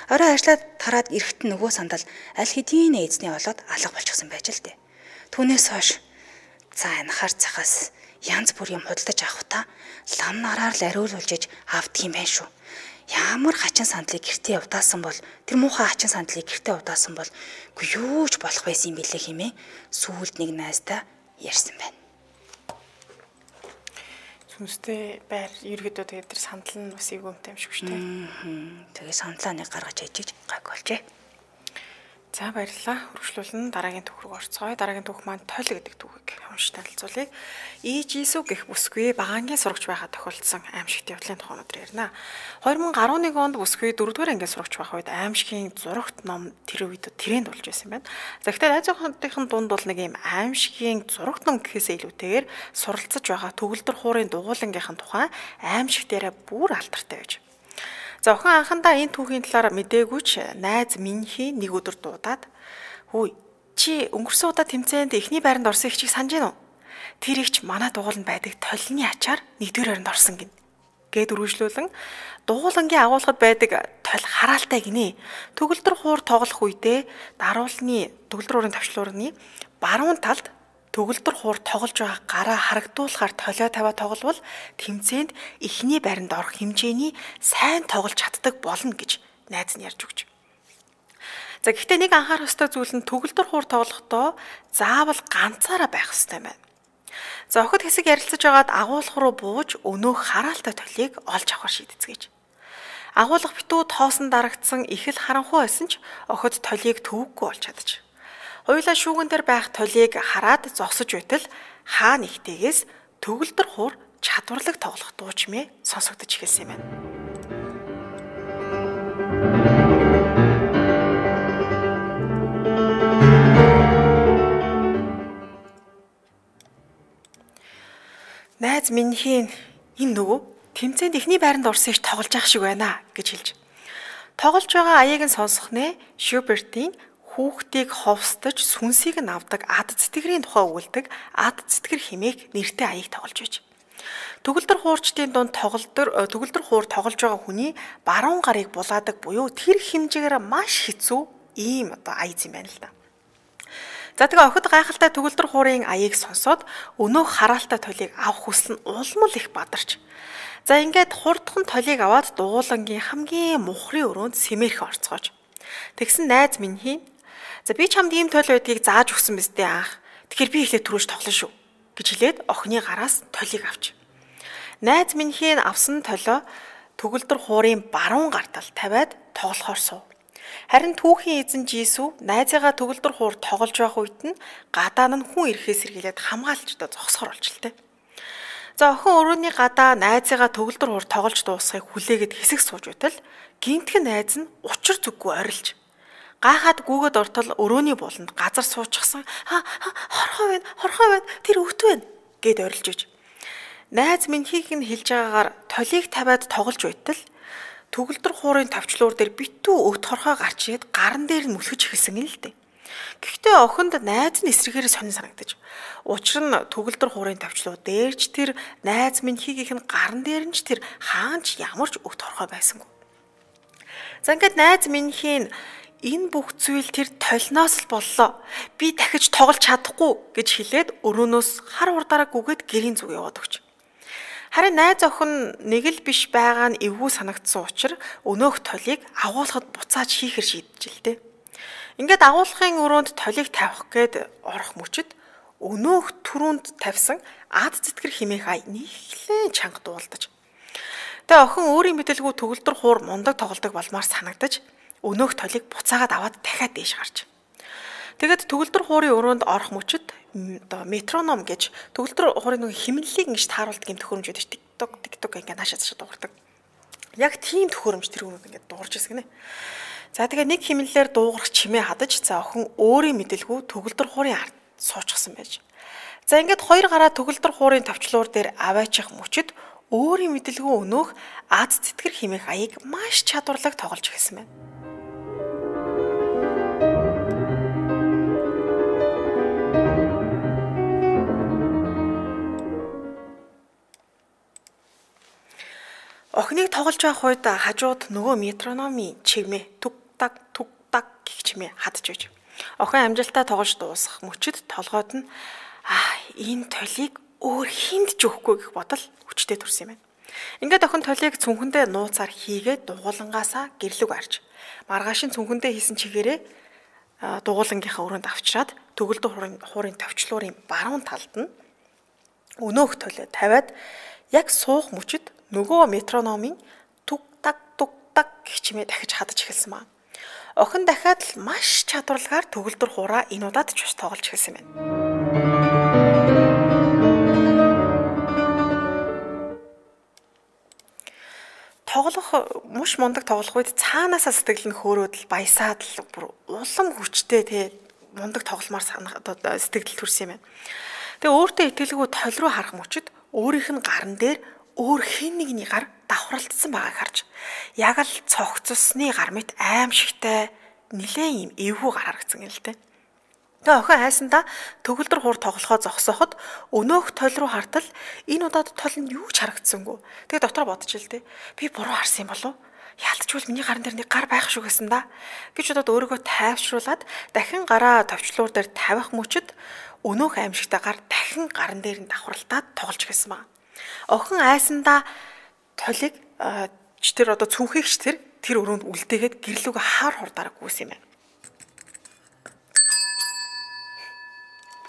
Орой ажиллаад тараад эрэхтэн нөгөө сандал аль хэдийн эзний олоод алга болчихсон байж л дээ. Түүнээс хойш за анхаар цахаас янз бүр юм худалдаж авах та лам нараар л ариулуулж авдгийм байх шүү. Ямар хачин сандлыг гэртээ явдаасан бол тэр муухай хачин сандлыг гэртээ явдаасан бол үгүй юу ч болох байсан юм билээ хэмээн сүүлд нэг найздаа ярьсан байна. Сүнстэй байр ерөөдөө тэгээд тэр сандал нь бас эгөөмтэй юм шиг шүү дээ. Тэгээ сандлаа нэг гаргаж ээжиж гайг болжээ. За баярлалаа. Хөрвүүлэн дараагийн түүх рүү орцгоё. Дараагийн түүх маань тойл гэдэг түүхийг уншиж танилцуулъя. Иж Иесү гэх бүсгүй багаангийн сурагч байхад тохиолдсон аимшигт явдлын тухай өнөөдөр ярина. две тысячи eleven онд бүсгүй дөрөвдүгээр ангийн сурагч байх үед аимшигын зурагт ном тэр үед тренд болж байсан байна. За гэхдээ найз охинтын дунд бол нэг юм аимшигын зурагт ном гэхээсээ илүүтэйгээр суралцж байгаа төгөлдөр хуурын дугуулангийнхан тухай аимшиг дээрээ бүр алдартай байж. За охин анхандаа энэ түүхийн талаар мэдээгүй ч найз Минхи нэг өдөр дуудаад "Хөөе, чи өнгөрсөн удаа тэмцээнд эхний байранд орсон их чиг санаж байна уу? Тэр ихч манай дугууланд байдаг толны ачаар нэгдүгээр байранд орсон гин." Гэд үргэлжлүүлэн дугуулангийн агуулгад байдаг тол хараалтай гинэ. Төгөлдөр хуур тоглох үедээ даруулны төгөлдөр хуурын тавчлуурны баруун талд төгөлдөр хуур тоглож байгаа гараа харагдуулахаар толио тавиа тогловол тэмцээнд эхний байранд орох хэмжээний сайн тоглож чаддаг болно гэж найз нь ярьж өгч. За гэхдээ нэг анхаарах ёстой зүйл нь төгөлдөр хуур тоглохдоо заавал ганцаараа байх ёстой юм байна. За охид хэсэг ярилцаж байгаад агуулга руу бууж өнөөх хараалтай толийг олж авахар шийдэцгээч. Агуулга битүү тоосон дарагдсан их л харанхуй байсан ч охид толийг төвөггүй олж чадчих. Хоёулаа шүүгэн дээр байх толийг хараад зогсож байтал хаа нэгтэйгээс төгөлдөр хуур чадварлаг тоглох дуучмээ сонсогдож эхэлсэн юм байна. Найз Минхийн энэ нөгөө тэмцээнд эхний байранд орсон их тоглож явах шиг байна гэж хэлж. Тоглож байгаа аяыг нь сонсох нэ Шубертийн хүүхдийг ховстож сүнсийг нь авдаг ад цэтгэрийн тухай өгүүлдэг ад цэтгэр хэмээх нэртэй аяыг тоглож байж. Төгөлдөр хуурчдын дунд тоглолтор төгөлдөр хуур тоглож байгаа хүний баруун гарыг булаадаг буюу тэр хэмжээгээр маш хэцүү ийм одоо аяз юм байна л да. За тэгээ охид гайхалтай төгөлдөр хуурын аяыг сонсоод өнөөх хараалтай толийг авах хүсэл нь улмал их бадарч. За ингээд хурдхан толийг аваад дугуулангийн хамгийн мухрын өрөөнд сэмэрх орцгоож. Тэгсэн найз Минхи "За би чамд ийм тойл байдгийг зааж өгсөн биз дээ анх. Тэгэхээр би ихлэ түрүүж тоглоно шүү" гэж хэлээд охины гараас толийг авч. Найз минхийн авсан толио төгөлдөр хуурын баруун гартал тавиад тоглохоор суув. Харин түүхийн эзэн Жисүү найзыгаа төгөлдөр хуур тоглож байх үед нь гадаа нь хүн ирэхээс сэргийлээд хамгаалчдаа зогсохоор болчихлоо. За охин өрөөний гадаа найзыгаа төгөлдөр хуур тоглож дуусахыг хүлээгээд хэсэг сууж байтал гинтхэн найз нь учир зүггүй орилж гайхаад гүгэд ортол өрөөний буланд газар суучихсан хорхоо байна хорхоо байна тэр өвт байна гэд орилж иж. Найз минхийг нь хэлж байгаагаар толийг тавиад тоглож байтал төгөлдөр хуурын товчлуур дээр битүү өвт хорхоо гарч ирээд гарн дээр нь мөлхөж эхэлсэн юм л дээ. Гэхдээ охинд найз нь эсрэгээр сонин санагдаж. Учир нь төгөлдөр хуурын товчлуу дээрч тэр найз минхийг нь гарн дээр нь ч тэр хаанч ямарч өвт хорхоо байсангүй. За ингээд найз минхийн энэ бүх зүйл тэр толноос л боллоо. Би дахиж тоглож чадахгүй гэж хэлээд өрөөнөөс хар урдаараа гүгээд гэрийн зүг яваад өгч. Харин найз охин нэг л биш байгаа нь эвгүй санагдсан учраас өнөөх толийг агуулхад буцааж хийхэр шийдчихлээ. Ингээд агуулгын өрөөнд толийг тавих гээд орох мөчөд өнөөх түрүүнд тавьсан ад зэтгэр химээх ай нийлэн чанга дуулдаж. Тэгээ охин өөрийн мэдээлгүй төгөлдөр хуур мундаг тоглодог болмаар санагдаж өнөөх толийг буцаагаад аваад дахиад дээш гарч. Тэгэд төгөлдөр хуурын өрөөнд орох мөчөд оо метроном гэж төгөлдөр хуурын нэг химнэлийг ингэж тааруулдаг юм төхөөрөмж байдаг. TikTok TikTok ингэ наашаа цаашаа дуурдаг. Яг тийм төхөөрөмж тэр өрөөнд ингэ дуурж ирсэн гинэ. За тэгээ нэг химнэлээр дуугарах чимээ хадаж за охин өөрийн мэдээлгүй төгөлдөр хуурын ард суучихсан байж. За ингээд хоёр гараа төгөлдөр хуурын товчлуур дээр аваачих мөчөд өөрийн мэдээлгүй өнөөх аз зэтгэр химээх аяыг маш чадварлаг тоглож эхэлсэн байна. Охиныг тоглож байх үед хажууд нөгөө метрономын чигмээ түг так түг так гэх чимээ хадж байж. Охин амжилтаа тоглож дуусгах мөчөд толгойд нь аа энэ толийг өөр хинд ч өгөхгүй гэх бодол хүчтэй төрсөн юм байна. Ингээд охин толийг цүнхэндээ нууцаар хийгээд дугуулангаасаа гэрлэг арж маргаашийн цүнхэндээ хийсэн чигээрээ дугуулангийнхаа өрөөнд авчираад төгөлдөр хуурын хуурын товчлуурын баруун талд нь өнөөх толио тавиад яг суух мөчөд нөгөө метрономын түг так түг так гэх чимээ дахиж хадаж эхэлсэн маа. Охин дахиад л маш чадварлагаар төгөлдөр хуураа энэ удаад ч бас тоглож эхэлсэн байна. Тоглох муш мундаг тоглох үед цаанаасаа сэтгэл нь хөөрөөд л баясаад л бүр улам хүчтэй те мундаг тогломоор сэтгэл төрсөн юм байна. Тэгээ өөртөө итгэлгүй толь руу харах мөчөд өөрийнх нь гарн дээр өөр хэн нэгний гар давхралтсан байгааг харж яг л цогцсны гар мэт аимшигтай нилээн юм эвгүй гар харагдсан юм л дээ. Тэгээ охин хайсандаа төгөлдөр хуур тоглохоо зогсооход өнөөх толь руу хартал энэ удаад тол нь юу ч харагдсангүй. Тэгээ дотор бодож ил дээ. Би буруу харсан юм болов? Яалтчгүй миний гарн дээр нэг гар байх шүү гэсэн да. Гэж удаад өөрийгөө тайвшруулад дахин гараа товчлуур дээр тавих мөчөд өнөөх аимшигтай гар дахин гарн дээр нь давхралтаад тоглож гисэн ба. Охин айсандаа толиг ч тэр одоо цүнхийгч тэр тэр өрөөнд үлдээгээд гэрлүүг хаар хурдаараа гүйсэн юм байна.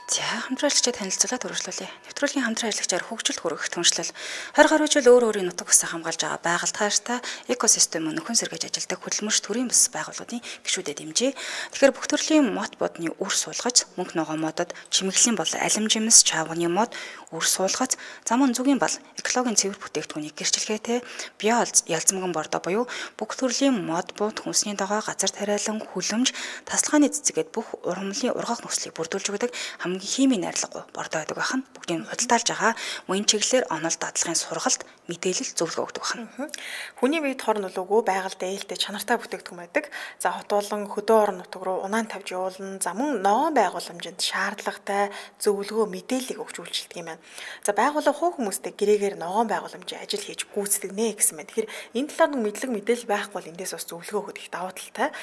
За хамтраалагчид танилцуулаад хөрвүүлээ. Нэвтрүүлгийн хамтран ажиллагчаар хөгжилт хүргэх түншлэл хорь гаруй жил өөр өөрийн нутаг усаа хамгаалж байгаа байгальд хайртай экосистем нөхөн сэргээж ажилдаг хөдөлмөрч төрийн бас байгууллагын гишүүдэд дэмжээ. Тэгэхээр бүх төрлийн мод бодны үр суулгаж мөнгө ногоо модод чимэглэлийн бол алим жимс чавганы мод үр суулгаж зам өнзөгийн бол экологийн цэвэр бүтээгдэхүүнийг гэрчлэгээтэй био ялцмган бордоо буюу бүх төрлийн мод бууд хүнсний дагаа газар тариалан хүлэмж тасалгааны цэцгээд бүх ургамлын ургах нөхцөлийг бүрдүүлж өгдөг хамгийн химийн найрлаггүй бордоо байдаг байх нь бүгдийг худалдаалж байгаа мөн чиглэлээр онол дадлагын сургалт мэдээлэл зөвлөгөө өгдөг байна. Хүний биед хор нөлөөгөө байгальд ээлтэй чанартай бүтээгдэхүүн байдаг. За хот болон хөдөө орон нутаг руу унаан тавьж явуулна. За мөн ногоон байгууламжинд шаардлагатай зөвлөгөө мэдээллийг өгч үйлчилдэг юм байна. За байгууллага хувь хүмүүстэй гэрээгээр ногоон байгууламжийн ажил хийж гүйцэтгэг нэ гэсэн байна. Тэгэхээр энэ талаар нэг мэдлэг мэдээлэл байхгүй бол эндээс бас зөвлөгөө өгөх их давуу талтай.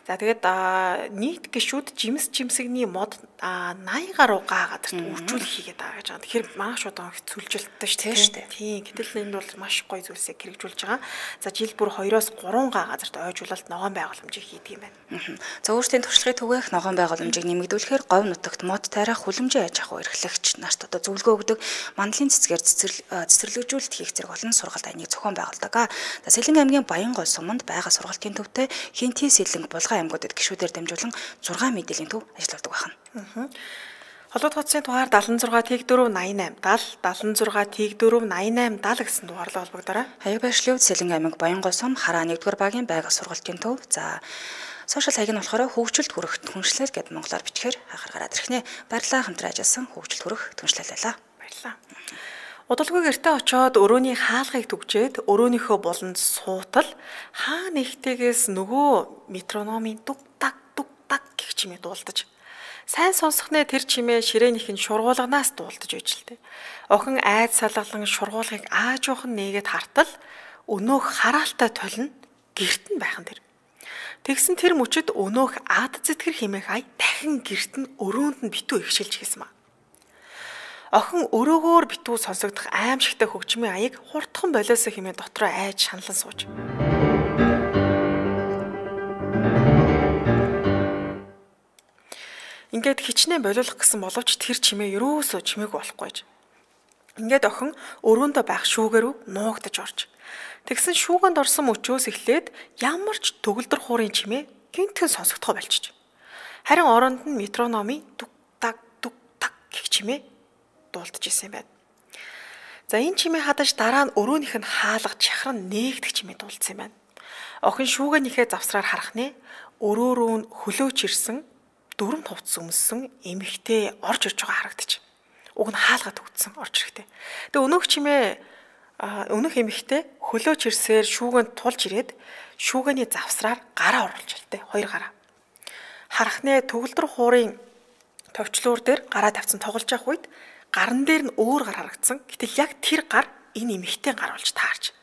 За тэгээд нийт гишүүд жимс жимсэгний мод наягаар руу гаа газарт үржүүлэх хийгээд байгаа гэж байгаа. Тэгэхээр маш удаан их цүлжилттэй шүү дээ. Тийм. Гэтэл энэ бол маш гоё зүйлсийг хэрэгжүүлж байгаа. За жил бүр хоёроос гурван га газарт ойжуулалт ногоон байгууламжийг хийдэг юм байна. За өөрсдийн туршлагыг түгээх ногоон байгууламжийг нэмэгдүүлэхээр говь нутагт мод тайрах хүлэмжийн аж ахуй эрхлэгч нарт одоо зөвлөгөө өгдөг мандлын цэцгээр цэцэрлэгжүүлэлт хийх зэрэг олон сургалт айныг зохион байгуулдаг. За Сэлэнг аймгийн Баянгол суманд байгаа сургалтын төвтэй Хинти Сэлэнг Булган аймагуудад гишүүдээр дамжуулан зургаан мэдээллийн төв ажилладаг байна. Холбоод хотсын дугаар дадлан зургаа тэг дөрөв восемь даал дадлан зургаа тэг дөрөв восемь даал гэсэн дугаарлаа холбогдорой. Хаяг байршлууд Сэлэнг аймаг Баянгол сум хараа нэгдүгээр багийн байгаль сургалтын төв. За сошиал хаяг нь болохоор хөгжилд хүрэх түншлэл гэд монголоор бичгээр хахар гараад ирхнэ. Баярлалаа хамтран ажилласан хөгжилд хүрэх түншлэл байлаа. Баярлалаа. Удалгүй гэртээ очиод өрөөний хаалгыг түгжээд өрөөнийхөө буланд суутал хаа нэгтэйгээс нөгөө метрономын дуг даг дуг даг гэх чимээ дуулдаж сайн сонсохнээ тэр чимээ ширээнийх нь шургуулганаас дуулдаж байж л дээ. Охин айд салгалан шургуулгыг аажуухан нээгээд хартал өнөөх хараалтай толино гэрт нь байхан тэр. Тэгсэн тэр мөчөд өнөөх ад зэтгэр химээх ай дахин гэрт нь өрөөнд нь битүү ихшилж хэлсэн маа. Охин өрөөгөөр битүү сонсогдох аимшигтай хөгжмийн аяг хурдхан болиосоо химээ дотроо айж шаналан сууж. Ингээд хичнээн болиулах гэсэн боловч тэр чимээ ерөөсөө чимээгүй болохгүйж. Ингээд охин өрөөндөө байх шүүгээрүү нуугдаж орж. Тэгсэн шүүгэнд орсон мөчөөс эхлээд ямар ч төгөлдөр хуурын чимээ гинтхэн сонсогдохоо болчих. Харин оронд нь метрономи дуг даг дуг так гэх чимээ дуулдаж исэн юм байна. За энэ чимээ хадаж дараа нь өрөөнийх нь хаалга чахран нээгдэх чимээ дуулдсан юм байна. Охин шүүгэнийхээ завсраар харах нэ өрөө рүү нь хөлөөч ирсэн дөрөв хувцс өмссөн эмэгтэй орж ирж байгаа харагдчих. Уг нь хаалга төгдсөн орж ирэхтэй. Тэгээ өнөөх чимээ өнөөх эмэгтэй хөлөөч ирсээр шүүгэнд тулж ирээд шүүгэний завсраар гараа оруулж ялтай хоёр гараа. Харах нэ төгөлдөр хуурын товчлуур дээр гараа тавьсан тоглож явах үед гарн дээр нь өөр гар харагдсан. Гэтэл яг тэр гар энэ эмэгтэй гар болж таарч.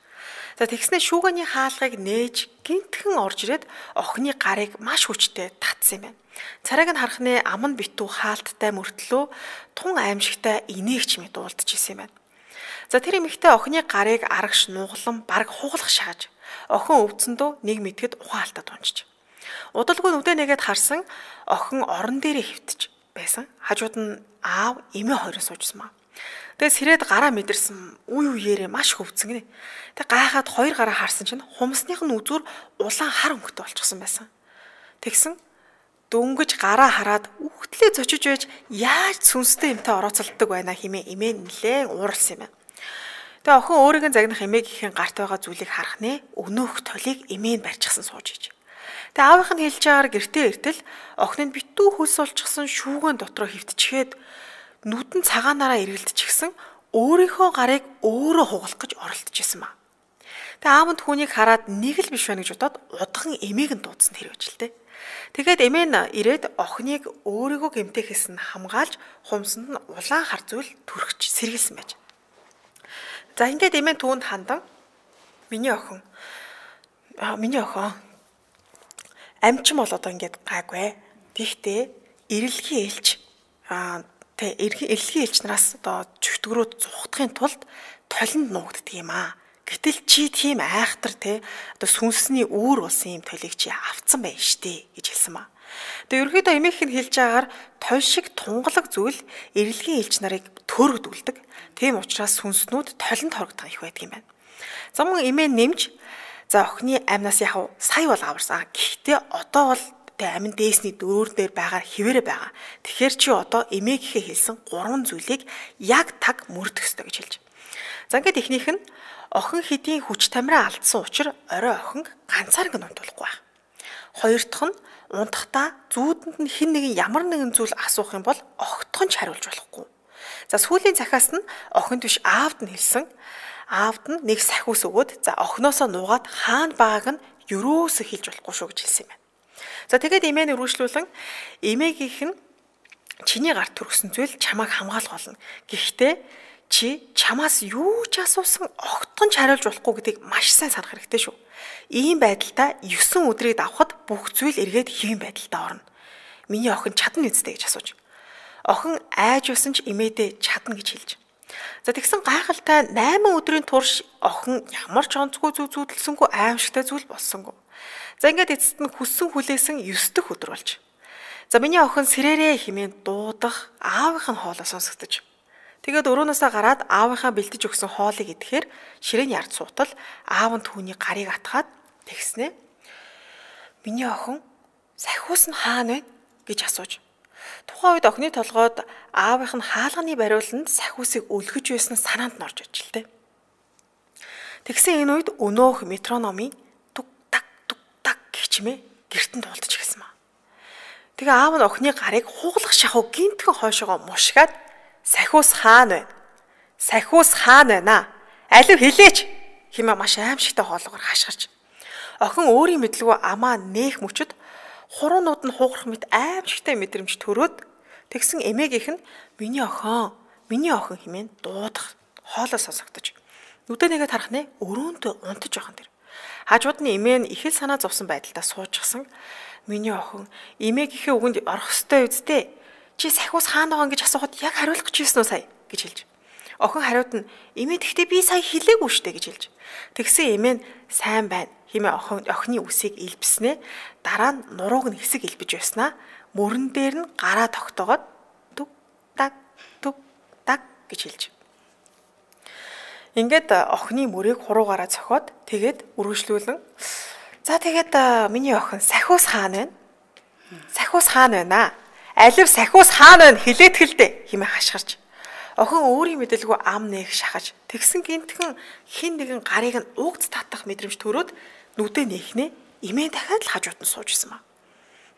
За тэгснэ шүүгэний хаалгыг нээж гинтхэн орж ирээд охины гарыг маш хүчтэй татсан юм байна. Царайг нь харах нэ аман битүү хаалттай мөртлөө тун аимшигтай инээгч мэд дуулдаж исэн юм байна. За тэр эмэгтэй охины гарыг арагш нуглан бараг хуглах шааж охин өвдсөндөө нэг мэтгэд ухаалтаа тунчиж. Удалгүй нүдэ нэгээд харсан охин орон дээрээ хөвтөж байсан. Хажууд нь аав эмээ хоёрын суужсан маа. Тэгээс сэрээд гараа мэдэрсэн үе үеэрээ маш хөвцөн гинэ. Тэг гайхаад хоёр гараа харсан чинь хумсных нь үзүүр улаан хар өнгөтэй болчихсон байсан. Тэгсэн дөнгөж гараа хараад үхтлээ зочиж байж яаж сүнстэй юмтай орооцолддог байна хэмээн эмээ нэлээд ууралсан юм байна. Тэгээ охин өөрийг нь загнах эмээгийн гарт байгаа зүйлийг харах нэ өнөөх толийг эмээ нь барьчихсан сууж иж. Тэгээ аавынх нь хэлж байгаагаар гэртээ иртэл охин нь битүү хөлс олчихсан шүүгэн дотроо хөвтчихэд нүдэн цагаанаараа эргэлдчихсэн өөрийнхөө гарыг өөрөө хугалах гэж оролдож исэн маа. Тэгээ аав нь түүнийг хараад нэг л биш байна гэж бодоод удхан эмээг нь дуудсан тэр үжилтэй. Тэгээд эмээ нь ирээд охиныг өөрийгөө гэмтээхээс нь хамгаалж хумсанд нь улаан хар зүйл түрхэж сэргэлсэн байж. За ингээд эмээ түүнд хандан миний охин аа миний охин амчин бол одоо ингээд гайгүй. Тэгтээ эрэлгийн ээлж аа тэ эрэлгийн ээлж нараас одоо чөтгөрөөд зухдахын тулд толинд нуугддаг юм аа. Гэтэл чи тийм айхтар те одоо сүнсний үүр болсон юм толийг чи авцсан байна штэ гэж хэлсэн маа. Тэгээ ерөөдөө эмээх нь хэлж байгаагаар толь шиг тунгалаг зүйл эрэлгийн ээлж нарыг төөрөгдүүлдэг. Тийм учраас сүнснүүд толинд хорогдох их байдаг юм байна. За мөн эмээ нэмж за охины амнаас яг сая бол аварсан. Гэхдээ одоо бол тэ амин дээсний дөрөөр дээр байгаа хിവэрэ байгаа. Тэгэхээр чи одоо эмээгийнхээ хэлсэн гурван зүйлийг яг таг мөрдөх ёстой гэж хэлж. За ингээд эхнийх нь охин хэдийн хүч тамираа алдсан учраас орой охин ганцаарг нь унтуулахгүй байна. Хоёр дахь нь унтахдаа зүүдэнд нь хэн нэгэн ямар нэгэн зүйл асуух юм бол огтхон ч хариулж болохгүй. За сүүлийн захиас нь охинд биш аавд нь хэлсэн. Аавд нь нэг сахиус өгөөд за охиноосоо нуугаад хаана байгааг нь юроосо хэлж болохгүй шүү гэж хэлсэн юм байна. За тэгээд эмээ нь үргэлжлүүлэн эмээгийнх нь чиний гарт төрсөн зүйл чамайг хамгаалах болно. Гэхдээ чи чамаас юу ч асуусан огтхон ч хариулж болохгүй гэдгийг маш сайн санах хэрэгтэй шүү. Ийм байдалтай есөн өдрийг давхад бүх зүйл эргээд хэвэн байдалтай орно. Миний охин чадна үстэй гэж асууж. Охин айж усан ч имээдээ чадна гэж хэлж. За тэгсэн гайхалтай найман өдрийн турш охин ямар ч онцгүй зүг зүудэлсэнгүй аимшигтай зүйл болсонгүй. За ингээд эцэст нь хүссэн хүлээсэн ёс дэх өдөр болж. За миний охин сэрээрээ хэмээн дуудах аавынх нь хоолоо сонсогдож. Тэгээд өрөөнөөсөө гараад аавынхаа бэлтэж өгсөн хоолыг идэхээр ширээний ард суутал аав нь түүний гарыг атгаад тэгснэ. Миний охин сахиус нь хаана вэ гэж асууж. Тухайн үед охины толгойд аавынх нь хаалганы бариуланд сахиусыг өлгөж байсан санаанд нь орж иж л дээ. Тэгсэн энэ үед өнөөх метрономын тук так тук так гихчмээ гертэн дуулдаж гисэн маа. Тэгээ аав нь охины гарыг хуглах шахуу гинтхэн хойшоогоо мушгаад сахиус хаана вэ? Сахиус хаана байна? Алив хэлээч хэмээн маш аимшигтай хоолгоор хашгирч. Охин өөрийн мэдлгүй амаа нээх мөчөд хуруунууд нь хугарах мэт аимшигтай мэдрэмж төрөөд тэгсэн эмээгийнх нь миний охин, миний охин хэмээн дуудах хоолой сонсогдож. Нүдэ нэгэд харах нэ өрөөндөө унтаж байгаа тэр. Хажууд нь эмээ нь их л санаа зовсон байдалтай суужчихсан. Миний охин эмээгийнхээ үгэнд орох ёстой үсттэй. Чи сахиус хаана байгаа гэж асуухад яг хариулах гэж ирсэн үү сая гэж хэлж. Охин хариуд нь эмээ тэгтээ би сая хэлээгүй штэ гэж хэлж. Тэгсэн эмээ нь сайн байна хэмээн охин охины үсийг илбснэ. Дараа нь нурууг нь хэсэг илбэж байснаа мөрөн дээр нь гараа тогтоогоод түг так түг так гэж хэлж. Ингээд охины мөрийг хуруугаараа цохоод тэгээд үргэлжлүүлэн за тэгээд миний охин сахиус хаана вэ? Сахиус хаана байна? Алив сахиус хаана байна хэлээд хэлдэ хэмээн хашгирч. Охин өөрийн мэдэлгүй ам нээх шахаж тэгсэн гинтхэн хин нэгэн гарыг нь угц татах мэдрэмж төрөөд нүдэ нэхнэ имээ дахиад л хажууд нь суужсэн маа.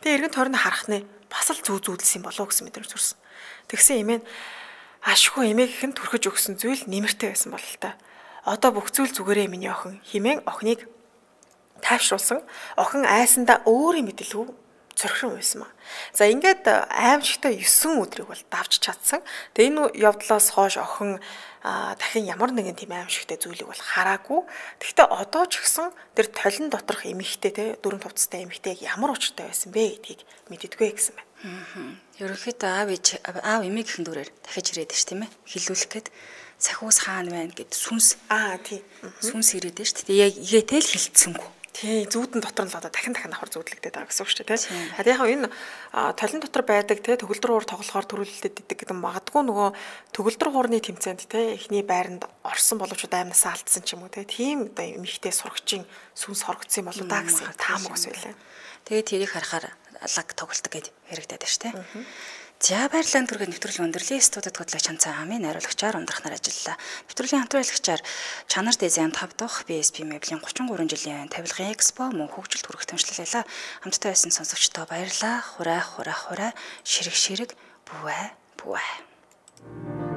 Тэгээ эргэн тойрны харах нэ бас л зүү зүүдэлсэн болов гэсэн мэдрэмж төрсөн. Тэгсэн имээ нь ашгүй эмээгийнх нь түрхэж өгсөн зүйл нэмэртэй байсан бол л та. Одоо бүх зүйл зүгээрээ миний охин хэмээн охиныг тайвшруулсан. Охин айсандаа өөрийн мэдэлгүй цорхрон байсан маа. За ингээд аимшигтай есөн өдрийг бол давж чадсан. Тэгээ энэ явдлаас хойш охин дахин ямар нэгэн тийм аимшигтай зүйлийг бол хараагүй. Гэхдээ одоо ч гэсэн тэр толин доторх эмэгтэй те дөрөв товцтой эмэгтэй ямар учиртай байсан бэ гэдгийг мэддэггүй гэсэн байна. Аа. Ерөнхийдөө аав ээж аав эмээгийнхэн дүрээр дахиж ирээд ш тийм ээ. Хилүүлэх гээд сахиус хаана байна гэд сүнс аа тий. Сүнс ирээд ш. Тэгээ яг игээтэй л хилцсэнгүй. Тий, зүүдэн дотор нь л одоо дахин дахин давхар зүүдлэгдээд байгаа гэсэн үг шүү дээ, тий. А яг энэ толин дотор байдаг тий төгөлдөр хуур тоглохоор төрүүлэлтэд идэг гэдэг магадгүй нөгөө төгөлдөр хуурны тэмцээнд тий эхний байранд орсон боловч аймнасаа алдсан ч юм уу тий. Тийм одоо эмхтэй сурагчийн сүнс хорогдсон болоо да гэсэн таамаг ус байлаа. Тэгээ тэрийг харахаар лаг тоглолт гэд яригадаад байна шүү дээ. За баярлалаа түргээ нэвтрүүлгийн өндөрлөлийн студид хөтлөгч Чанцаа хамын найруулагчаар ундрахнаар ажиллалаа. Нэвтрүүлгийн хамтраалагчаар Чанар Дизайн тав дахь би эс пи Mebлийн гучин гурван жилийн тавилгын экспо мөн хөгжилд хүрэх тэмцэлээлээ. Хамтдаа байсан сонсогчдоо баярлалаа. Хураа хураа хураа ширэг ширэг бүвэ бүвэ.